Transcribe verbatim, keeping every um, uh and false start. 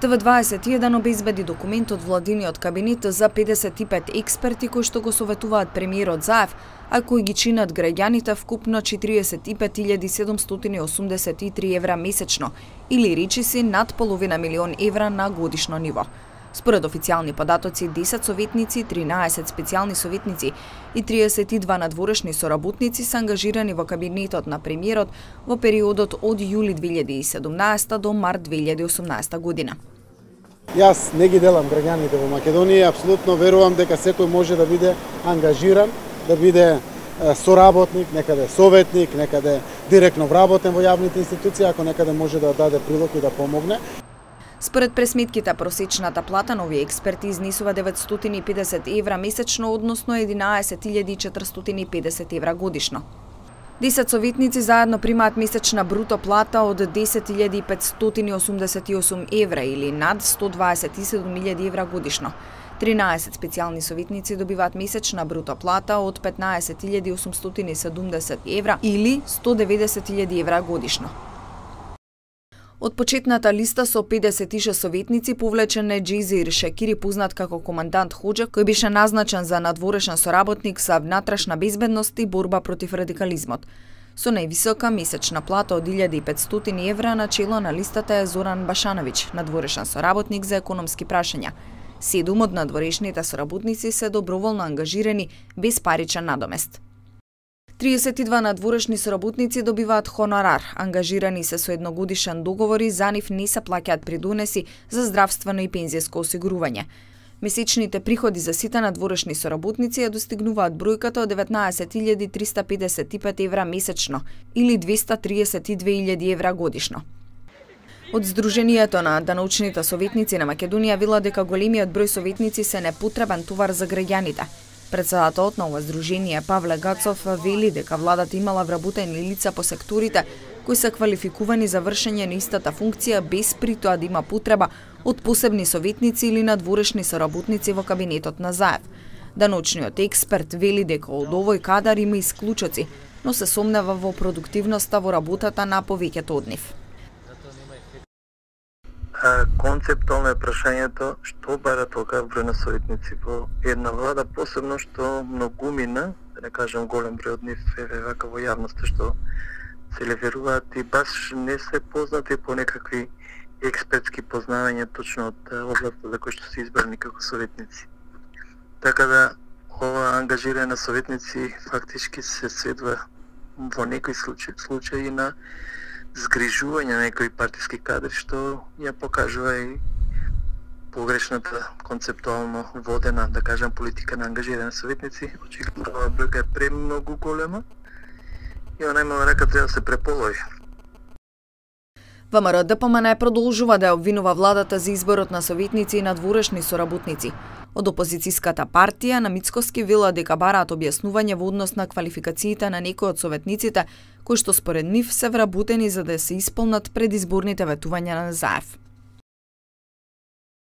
Т В дваесет и еден обезбеди документ од владиниот кабинет за педесет и пет експерти кои што го советуваат премиерот Заев, а кои ги чинат граѓаните вкупно четириесет и пет илјади седумстотини и осумдесет и три евра месечно, или речиси над половина милион евра на годишно ниво. Според официјални податоци, десет советници, тринаесет специјални советници и триесет и два надворешни соработници се ангажирани во кабинетот на премиерот во периодот од јули две илјади и седумнаесета до март две илјади и осумнаесета година. Јас не ги делам граѓаните во Македонија, апсолутно верувам дека секој може да биде ангажиран, да биде соработник, некаде советник, некаде директно вработен во јавните институции, ако некаде може да даде прилог и да помогне. Според пресметките, просечната плата на овие експерти изнесува деветстотини и педесет евра месечно, односно единаесет илјади четиристотини и педесет евра годишно. десет советници заедно примаат месечна бруто плата од десет илјади петстотини и осумдесет и осум евра или над сто дваесет и седум илјади евра годишно. тринаесет специјални советници добиваат месечна бруто плата од петнаесет илјади осумстотини и седумдесет евра или сто деветдесет илјади евра годишно. Од почетната листа со педесет и шест советници повлечен е Џезир Шекири, познат како командант Хоџа, кој беше назначен за надворешен соработник за внатрешна безбедност и борба против радикализмот. Со највисока месечна плата од илјада и петстотини евра на чело на листата е Зоран Башановиќ, надворешен соработник за економски прашања. Седум од надворешните соработници се доброволно ангажирани без паричен надомест. триесет и два надворешни соработници добиваат хонорар, ангажирани се со едногодишен договор и за нив не се плаќаат придонеси за здравствено и пензијско осигурување. Месечните приходи за сите надворешни соработници ја достигнуваат бројката од деветнаесет илјади триста педесет и пет евра месечно или двеста триесет и две илјади евра годишно. Од Сдруженијето на научните советници на Македонија вела дека големиот број советници се непотребен товар за граѓаните. Председателот на ова здружение Павле Гацов вели дека владата имала вработени лица по секторите кои се квалификувани за вршење на истата функција без при тоа да има потреба од посебни советници или надворешни соработници во кабинетот на Заев. Научниот експерт вели дека од овој кадар има исклучоци, но се сомнева во продуктивноста во работата на повеќето од нив. Концептуално е прашањето што бара толка број на советници во една влада, посебно што многумина, да не кажам голем број од нив е вака во јавноста што се леверуваат и баш не се познати по некакви експертски познавања точно од областта за кој што се избрани како советници. Така да ова ангажирање на советници фактички се сведува во некои случаи, случаи на згрижување на некои партиски кадри што ја покажува и погрешната концептуално водена, да кажам, политика на ангажирање советници. Очигледно ова бројка е премногу голема и она има река треба да се преполови. ВМРО Д П М Н продолжува да ја обвинува владата за изборот на советници и надворешни соработници. Од опозицијската партија на Мицкоски вела дека бараат објаснување во однос на квалификациите на некои од советниците кои што според нив се вработени за да се исполнат предизборните ветувања на Заев.